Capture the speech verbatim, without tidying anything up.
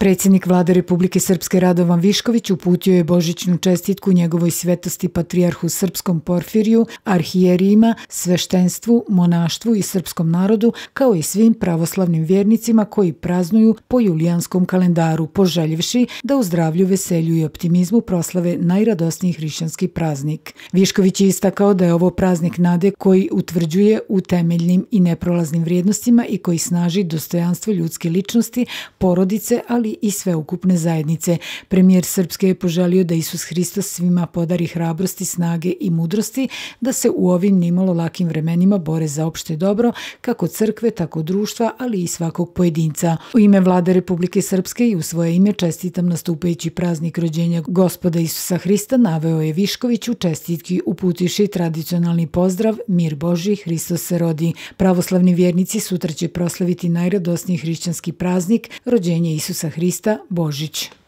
Predsjednik Vlade Republike Srpske Radovan Višković uputio je božićnu čestitku njegovoj svetosti patrijarhu srpskom Porfiriju, arhijerijima, sveštenstvu, monaštvu i srpskom narodu, kao i svim pravoslavnim vjernicima koji praznuju po julijanskom kalendaru, poželjevši da u zdravlju, veselju i optimizmu proslave najradosniji hrišćanski praznik. Višković je istakao da je ovo praznik nade koji utvrđuje u temeljnim i neprolaznim vrijednostima i koji snaži dostojanstvo ljudske ličnosti, porodice, ali i sveukupne zajednice. Premijer Srpske je poželio da Isus Hristos svima podari hrabrosti, snage i mudrosti da se u ovim nimalo lakim vremenima bore za opšte dobro, kako crkve, tako društva, ali i svakog pojedinca. U ime Vlade Republike Srpske i u svoje ime čestitam nastupajući praznik rođenja Gospoda Isusa Hrista, naveo je Višković u čestitki uputivši tradicionalni pozdrav Mir Božji, Hristos se rodi. Pravoslavni vjernici sutra će proslaviti najradosniji hrišćanski praznik, rođenje Isusa Hrista, Božić.